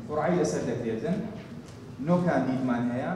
قوڕعەی لەسەر دەکرێتن، نۆ کاندیدمان هەیە.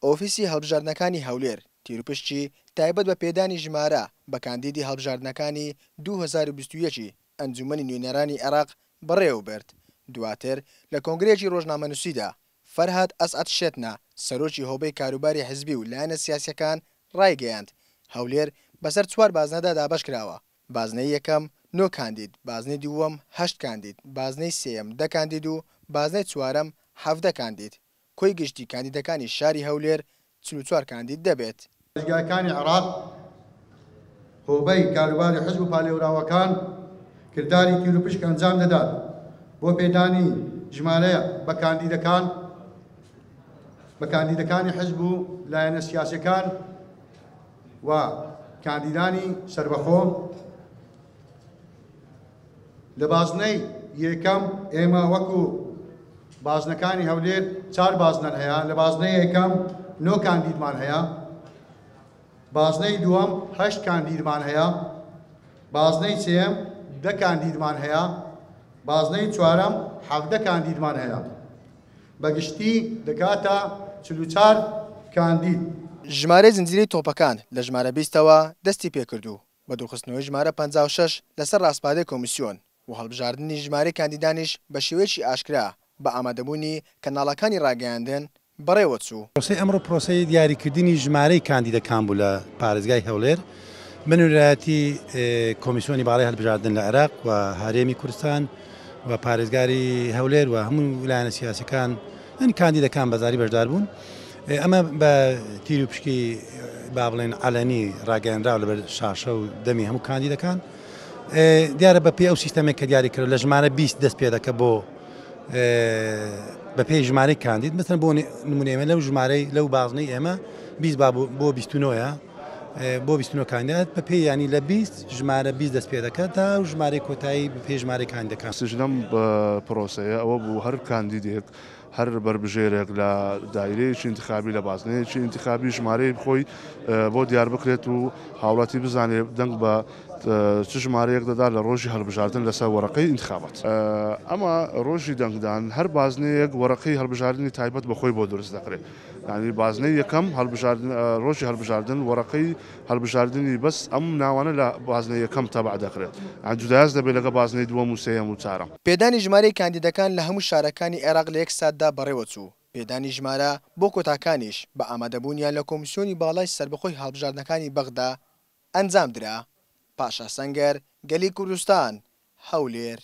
ئۆفیسی هەڵبژاردنەکانی هەولێر تیروپشکی تایبەت بە پێدانی ژمارە بە کاندیدی هەڵبژاردنەکانی 2021 ی ئەنجوومەنی نوێنەرانی عێراق بەڕێوەبرد، دواتر لە کۆنگرەیەکی ڕۆژنامەنووسیدا فەرهاد ئەسعەد شێتنە، سەرۆکی هۆبەی کاروباری حزبی و لایەنە سیاسییەکان ڕایگەیاند، هەولێر بەسەر چوار بازنەدا دابەشکراوە، بازنەی یەکەم نۆ کاندید، بازنەی دووەم هەشت کاندید، بازنەی سێیەم دە کاندید و بازنەی چوارەم 17 کاندید، کۆی گشتی کاندیدەکانی شاری هەولێر 44 کاندید دەبێت. پارێزگاکانی عێراق، هۆبەی کاروباری حزب و پالێوراوەکان کرداری تیروپشک ئەنجام دەدات بۆ پێدانی ژمارە بە کاندیدەکان بە کاندیدەکانی حزب و لایەنە سیاسیەکان و کاندیدانی سەربەخۆ. لە بازنەی یەکەم ئێمە وەکو بازنەکانی هەولێر چار بازنەن هەیە، لە بازنەی یەکەم نۆ کاندیدمان هەیە، بازنەی دووەم هەشت کاندیدمان هەیە، بازنەی سێیەم دە کاندیدمان هەیە، بازنەی چوارەم 17 کاندیدمان هەیە، بە گشتی دەکاتە 44 کاندید. ژمارەی زنجیرەی تۆپەکان لە ژمارە 20ەوە دەستی پێکرد و بە دوورخستنەوەی ژمارە 56 لەسەر ڕاسپاردەی کۆمیسیۆن و هەڵبژاردنی ژمارەی کاندیدانیش بە شێوەیەکی ئاشکرا بە ئامادەبوونی کەناڵەکانی ڕاگەیاندن بەڕێوەچوو. پرۆسەی ئەمڕۆ پرۆسەی دیاریکردنی ژمارەی کاندیدەکان بوو لە پارێزگای هەولێر بە نوێنەرایەتی کۆمیسیۆنی باڵای هەڵبژاردن لە عێراق و هەرێمی کوردستان و پارێزگاری هەولێر و هەموو لایەنە سیاسەکان یعنی کاندیدەکان بەزاری بەشدار بوون. ئەمە بە تیر و پشکی با بڵێن عەلەنی ڕاگەیەنراو لەبەر شاشە و دەمی هەموو کاندیدەکان. دیارە بە پێی ئەو سیستەمێک کە دیاری کرد لە ژمارە 20 دەست پێ دەکە بۆ بە پێی ژمارەی کاندید، مثلا بۆ نمونە ئێمە لەو ژمارەی لەو بازنەی ئێمە 20 با بۆ 29ە بۆ 29 کاندید بە پێی ینی لە 20 ژمارە 20 دەست پێ دەکات تا و ژمارەی کۆتایی بە پێی ژمارەی کاندیدەکان. سژنەم پرۆسەیە ئەوە بوو هەر کاندیدێک هەر بەربژێرێک لە دایرەیەکی ئینتخابی لە بازنەیەکی ئینتخابی ژمارەی خۆی بۆ دیار بکرێت و هاوڵاتی بزانێت دەنگ بە چ ژمارەیەک دەدا لە ڕۆژی هەڵبژاردن لەسەر وەرەقەی ئینتخابات. ئەمە ڕۆژی دەنگدان هەر بازنەیەک وەرەقەی هەڵبژاردنی تایبەت بە خۆی بۆ دروست دەکرێت، یعنی بازنەی یەکەم هەڵبژاردن ڕۆژی هەڵبژاردن وەرەقەی هەڵبژاردنی بەس ئەم ناوانە لە بازنەی یەکەم تەبع دەکرێت، یان جودایاز دەبێت لەگە بازنەی دووەم و سێیەم و چارەم. پێدانی ژمارەی کاندیدەکان لە هەموو شارەکانی عێراق لە یەک ساتدا بەڕێوەچوو، پێدانی ژمارە بۆ کۆتاکانیش بە ئامادەبوونیان لە کۆمیسیۆنی باڵای سەربەخۆی هەڵبژاردنەکانی بەغدا ئەنجامدرا. پاشا سەنگەر، گەلی کوردستان، هەولێر.